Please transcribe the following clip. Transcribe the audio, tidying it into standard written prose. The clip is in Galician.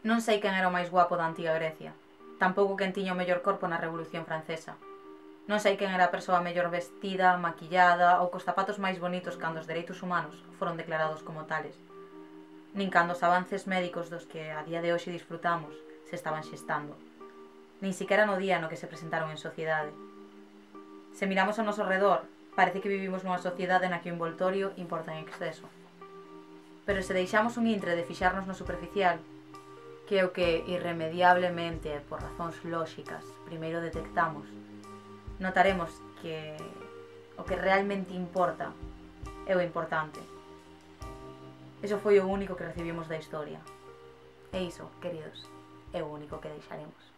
Non sei quen era o máis guapo da antiga Grecia, tampouco quen tiña o mellor corpo na Revolución Francesa. Non sei quen era a persoa mellor vestida, maquillada ou cos zapatos máis bonitos cando os dereitos humanos foron declarados como tales. Nin cando os avances médicos dos que a día de hoxe disfrutamos se estaban xestando. Nin siquiera no día no que se presentaron en sociedade. Se miramos ao noso redor, parece que vivimos nunha sociedade na que o envoltorio importa en exceso. Pero se deixamos un intre de fixarnos no superficial, que é o que irremediablemente, por razóns lóxicas, primeiro detectamos, notaremos que o que realmente importa é o importante. Eso foi o único que recibimos da historia. E iso, queridos, é o único que deixaremos.